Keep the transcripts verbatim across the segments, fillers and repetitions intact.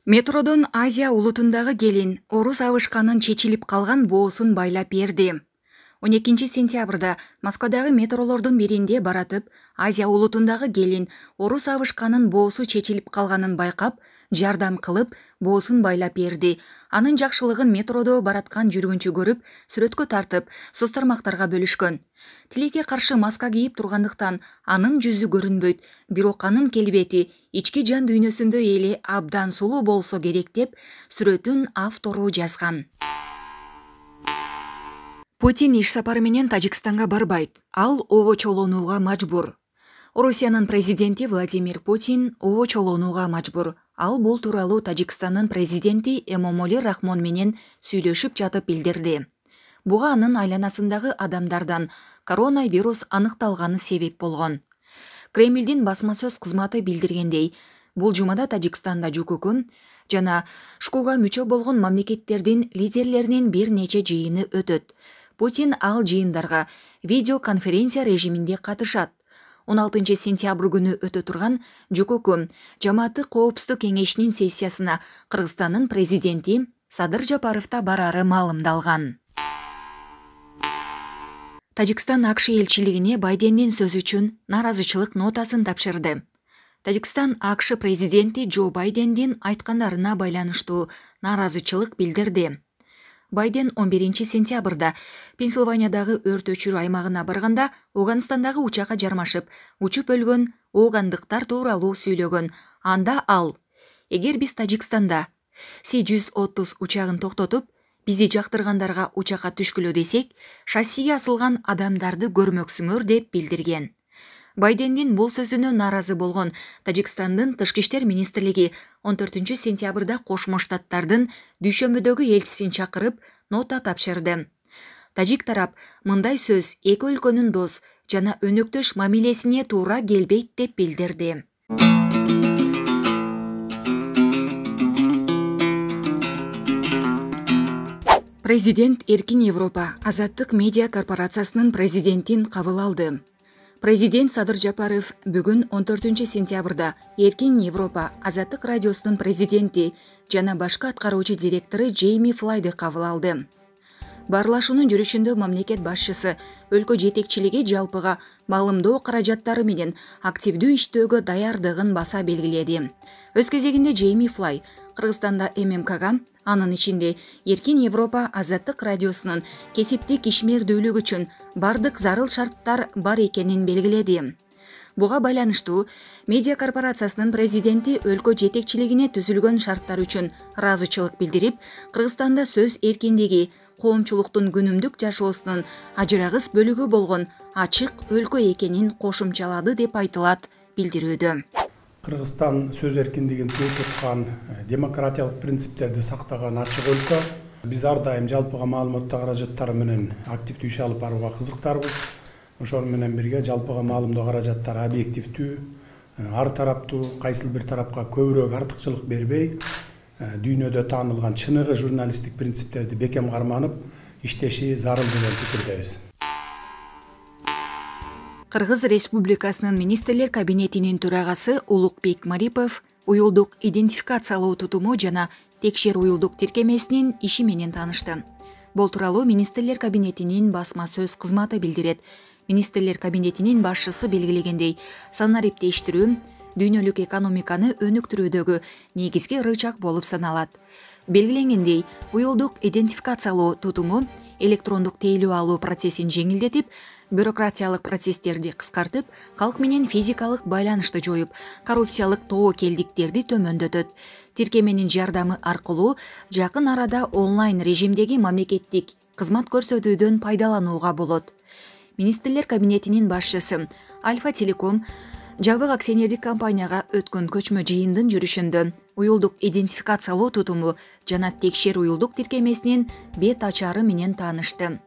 Метродон Азия улутундагы келин орус абышканын чечилип калган боосун байлап берди. он экинчи сентябрда Москвадагы метролордун биринде баратып, Азия улутундагы келин орус абышканын боосу чечилип калганын байкап, жардам кылып, боосун байлап берди. Анын жакшылыгын метродо бараткан жүргүнчү көрүп, сүрөткө тартып, соц тармактарга бөлүшкөн. Тилекке каршы маска кийип тургандыктан анын жүзү көрүнбөйт, бирок анын келбети ички жан дүйнөсүндө эле абдан сулуу болсо керек деп сүрөтүн автору жазган. Путин иш сапары менен Тажикстанга барбайт. Ал обочолонууга мажбур. Орусиянын президенти Владимир Путин обочолонууга мажбур. Ал бул тууралуу Тажикстандын президенти Эмомали Рахмон менен сүйлөшүп жатып билдирди. Буга анын айланасындагы адамдардан коронавирус аныкталганы себеп болгон. Кремлдин басма сөз кызматы билдиргендей, бул жумада Тажикстанда ЖКК жана ШКУга мүчө болгон мамлекеттердин лидерлеринин бир нече жыйыны өтөт. Путин ал жыйындарга видеоконференция режиминде катышат. он алтынчы сентябрь күнү өтө турган ЖКК Жамааттык коопсуздук кеңешинин сессиясына Кыргызстандын президенти Садыр Жапаров да барары маалымдалган. Тажикстан АКШ элчилигине Байдендин сөзү үчүн наразычылык нотасын тапшырды. Тажикстан АКШ президенти Джо Байдендин айткандарына байланыштуу наразычылык билдирди. Байден он биринчи сентябрда Пенсильваниядагы өрт өчүрүү аймагына барганда Оганстандагы учакка жармашып, учуп өлгөн оогандыктар тууралуу сүйлөгөн. Анда ал: "Эгер биз Тажикстанда Си жүз отуз учагын токтотуп, бизи жактыргандарга учакка түшкүлө десек, шассиге асылган адамдарды көрмөксүңөр" деп билдирген. Байдендин бул сөзүнө нааразы болгон Тажикстандын Тышкы иштер министрлиги он төртүнчү сентябрда Кошмо Штаттардын дүйшөмбөдөгү элчисин чакырып, нота тапшырды. Тажик тарап мындай сөз эки өлкөнүн дос жана өнөктөш мамилесине туура келбейт деп билдирди. Президент Эркин Европа Азаттык медиа корпорациясынын президентин кабыл алды. Президент Садыр Жапаров бүгүн он төртүнчү сентябрда Эркин Европа Азаттык радиосунун президенти жана башкы аткаруучу директору Джейми Флайды кабыл алды. Баарлашуунун жүрүшүндө мамлекет башчысы өлкө жетекчилиги жалпыга маалымдоо каражаттары менен активдүү иштөөгө даярдыгын баса белгиледи. Өз кезегинде Джейми Флай Кыргызстанда эм эм кага, анын ичинде Эркин Европа Азаттык радиосунун кесиптик ишмердүүлүгү үчүн бардык зарыл шарттар бар экенин белгиледи. Буга байланыштуу медиа корпорациясынын президенти өлкө жетекчилигине түзүлгөн шарттар үчүн ыраазычылык билдирип, Кыргызстанда сөз эркиндиги коомчулуктун күнүмдүк жашоосунун ажырагыс бөлүгү болгон ачык өлкө экенин кошумчалады деп айтылат билдирүүдө. Кыргызстан сөз эркиндигин тууп туткан, демократиялык принциптерди сактаган ачык өлкө. Биз ар дайым жалпыга маалыматтоо каражаттары менен активдүү иш алып барууга кызыктарбыз. Ошол менен бирге жалпыга маалымдоо каражаттары объективдүү, ар тараптуу, кайсыл бир тарапка көбүрөөк артыкчылык бербей, дүйнөдө таанылган чыныгы журналисттик принциптерди бекем карманып иштеши зарыл деген пикирдебиз. Кыргыз Республикасынын министрлер кабинетинин төрагасы Улукбек Марипов уюлдук идентификациялоо тутуму жана текшер уюлдук тиркемесинин иши менен таанышты. Бул тууралуу министрлер кабинетинин басма сөз кызматы билдирет. Министрлер кабинетинин башчысы белгилегендей, санариптештирүү дүйнөлүк экономиканы өнүктүрүүдөгү негизги рычаг болуп саналат. Белгиленгендей, уюлдук идентификациялоо тутуму электрондук тейлөө алуу процессин жеңилдетип, бюрократиялык процесстерди кыскартып, калк менен физикалык байланышты жоюп, коррупциялык тобокелдиктерди төмөндөтөт. Тиркеменин жардамы аркылуу жакын арада онлайн режимдеги мамлекеттик кызмат көрсөтүүдөн пайдаланууга болот. Министрлер кабинетинин башчысы Альфа Телеком жабык акционердик компанияга өткөн көчмө жыйындын жүрүшүндө уюлдук идентификациялоо тутуму жана текшер уюлдук тиркемесинин бет ачары менен таанышты.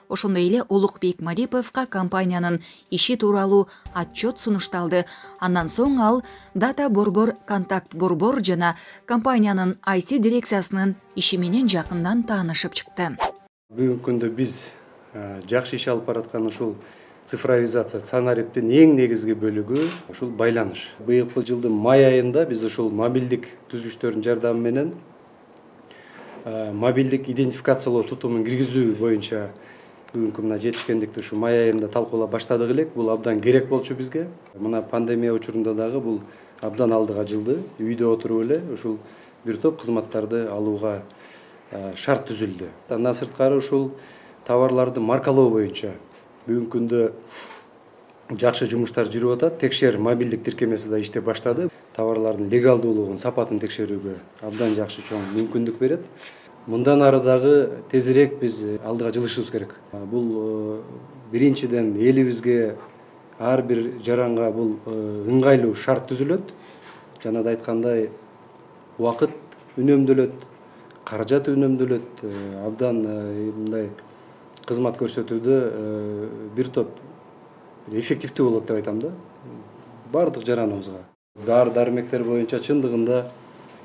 Ошондой эле Улукбек Мариповго компаниянын иши тууралуу отчет сунушталды. Андан соң ал Дата Борбор, Контакт Борбор жана компаниянын ай ти дирекциясынын иши менен жакындан таанышып чыкты. Бүгүнкү күндө биз жакшы иш алып бараткан ушул цифровизация санариптин эң негизги бөлүгү ушул байланыш. Быйылкы жылдын май айында биз ушул мобилдик түзүлүштөрдүн жардамы менен мобилдик идентификациялоо тутумун киргизүү боюнча бүгүнкү мына жетишкендикти ушу май айында талкуулап баштадык элек. Бул абдан керек болчу бизге. Мына пандемия учурунда дагы бул абдан алдыга жылды. Үйдө отуруп эле ушул бир топ кызматтарды алууга шарт түзүлдү. Андан сырткары ушул товарларды маркалоо боюнча бүгүнкү күндө жакшы жумуштар жүрүп атат. Текшер мобилдик тиркемеси да иштеп баштады. Товарлардын легалдуулугун, сапатын текшерүүгө абдан жакшы чоң мүмкүндүк берет. Мындан ары дагы тезирээк биз алдыга жылышыбыз керек. Бул биринчиден элибизге ар бир жаранга бул ыңгайлуу шарт түзүлөт. Жана да айткандай убакыт үнөмдөлөт, каражат үнөмдөлөт. Абдан мындай кызмат көрсөтүүдө бир топ эффективдүү болот деп айтам да. Бардык жараныбызга. Дары-дармектер боюнча чындыгында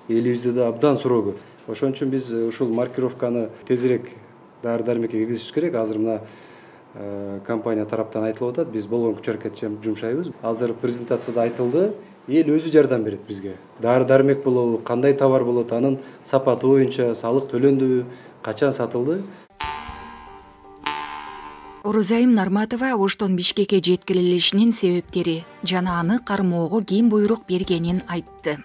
элибизде да абдан суроо көп. Ошон үчүн биз ушул маркировканы тезирээк дары-дармекке киргизиш керек. Азыр мына компания тараптан айтылып атат. Биз болгон күч-аракет жумшайбыз. Азыр презентацияда айтылды. Эл өзү жардам берет бизге. Дары-дармек болобу, кандай товар болот, анын сапаты боюнча салык төлөндүбү, качан сатылды. Орозайым Нарматова Оштон Бишкекке жеткирилишинин себептери жана аны кармоого ким буйрук бергенин айтты.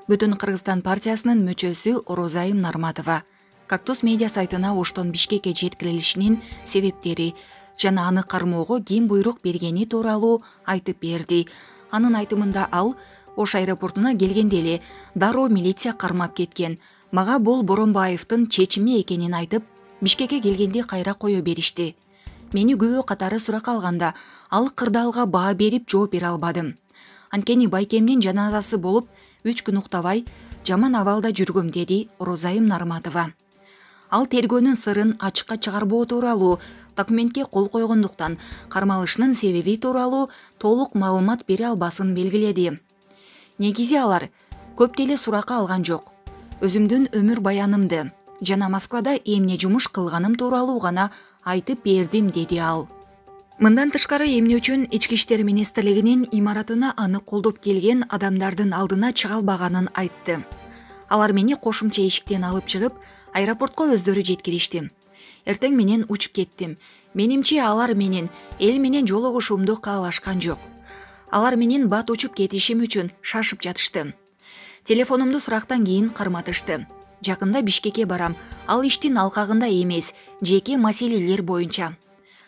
Бүтүн Кыргызстан партиясынын мүчөсү Орозайым Нарматова Кактус медиа сайтына Оштон Бишкекке жеткирилишинин себептери жана аны кармоого ким буйрук бергени тууралуу айтып берди. Анын айтымында ал Ош аэропортуна келгенде эле дароо милиция кармап кеткен. Мага бул Боронбаевдин чечими экенин айтып, Бишкекке келгенде кайра кое беришти. Мени күбө катары сурак алганда, ал кырдаалга баа берип жооп бере албадым. Анткени байкемдин жаназасы болуп, үч күн уктабай, жаман абалда жүргөм, деди Орозайым Нарматова. Ал тергөөнүн сырын ачыкка чыгарбоо тууралуу документке кол койгондуктан кармалышынын себеби тууралуу толук маалымат бере албасын белгиледи. Негизи алар көп деле суракка алган жок. Өзүмдүн өмүр баянымды жана Москвада эмне жумуш кылганым тууралуу гана айтып бердим, деди ал. Мындан тышкары эмне үчүн Ички иштер министрлигинин имаратына аны колдоп келген адамдардын алдына чыга албаганын айтты. Алар мени кошумча эшиктен алып чыгып, аэропортко өздөрү жеткиришти. Эртең менен учуп кеттим. Менимче алар менен эл менен жолугушуумду каалашкан жок. Алар менен бат учуп кетишим үчүн шашып жатышты. Телефонумду сурактан кийин карматышты. Жакында Бишкекке барам. Ал иштин алкагында эмес, жеке маселелер боюнча.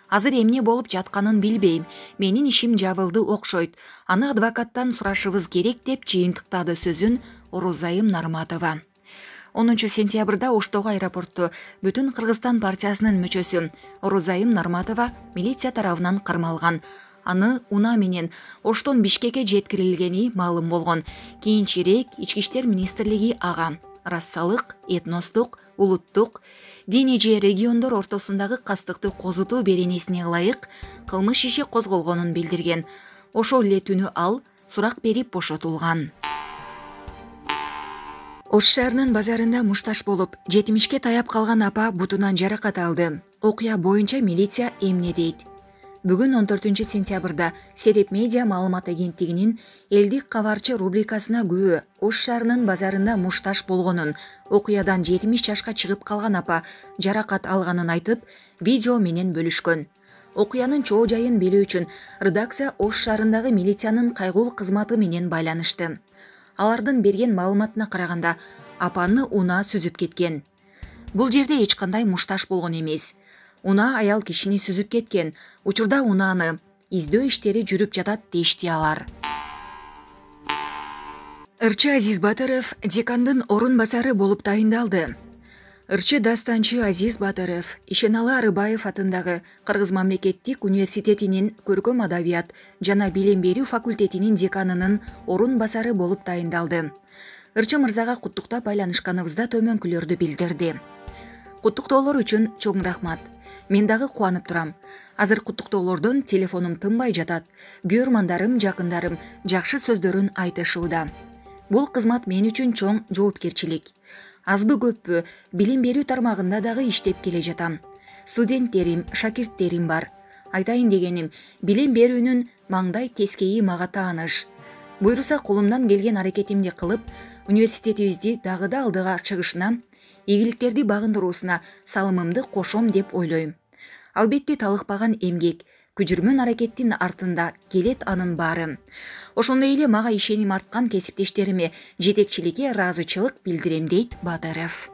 Азыр эмне болуп жатканын билбейм. Менин ишим жабылды окшойт. Аны адвокаттан сурашыбыз керек, деп жыйынтыктады сөзүн Орозайым Нарматова. онунчу сентябрда Оштогу аэропорту Бүтүн Кыргызстан партиясынын мүчөсү Орозайым Нарматова милиция тарабынан кармалган. Аны унаа менен Оштон Бишкекке жеткирилгени маалым болгон. Кийинчерээк Ички иштер министрлиги ага рассалык, этностук, улуттук, диний же региондор ортосундагы кастыкты козутуу беренесине ылайык кылмыш иши козголгонун билдирген. Ошол эле түнү ал сурак берип бошотулган. Ош шаарынын базарында мушташ болуп, жетимишке таяп калган апа бутунан жаракат алды. Окуя боюнча милиция эмне дейт? Бүгүн он төртүнчү сентябрда Сереп медиа маалымат агенттигинин элдик кабарчы рубрикасына күбө Ош шаарынын базарында мушташ болгонун, окуядан жетимиш жашка чыгып калган апа жаракат алганын айтып, видео менен бөлүшкөн. Окуянын чоо жайын билүү үчүн редакция Ош шаарындагы милициянын кайгул кызматы менен байланышты. Алардын берген маалыматына караганда, апаны унаа сүзүп кеткен. Бул жерде эч кандай мушташ болгон эмес. Унаа аял кишини сүзүп кеткен. Учурда унааны издөө иштери жүрүп жатат, дешти алар. Ырчы Азиз Батыров декандын орун басары болуп тайындалды. Ырчы дастанчы Азиз Батыров Ишеналы Арыбаев атындагы Кыргыз мамлекеттик университетинин көркөм адабият жана билим берүү факультетинин деканынын орун басары болуп тайындалды. Ырчы мырзага куттуктап байланышканыбызда төмөнкүлөрдү билдирди. Куттуктоолор үчүн чоң рахмат. Мен дагы кубанып турам. Азыр куттуктоолордон телефонум тынбай жатат. Көрмандарым, жакындарым жакшы сөздөрүн айтышууда. Бул кызмат мен үчүн чоң жоопкерчилик. Азбы көппү билим берүү тармагында дагы иштеп келе жатам. Студенттерим, шакирттерим бар. Айтайын дегеним, билим берүүнүн маңдай тескейи мага тааныш. Буйруса колумдан келген аракетимди кылып, университетибизди дагы да алдыга чыгышына, ийгиликтерди багындыруусуна салымымды кошом деп ойлойм. Албетте талыкпаган эмгек, күжүрмөн аракеттин артында келет анын баары. Ошондой эле мага ишеним арткан кесиптештериме жетекчиликке ыраазычылык билдирем дейт Бадыров.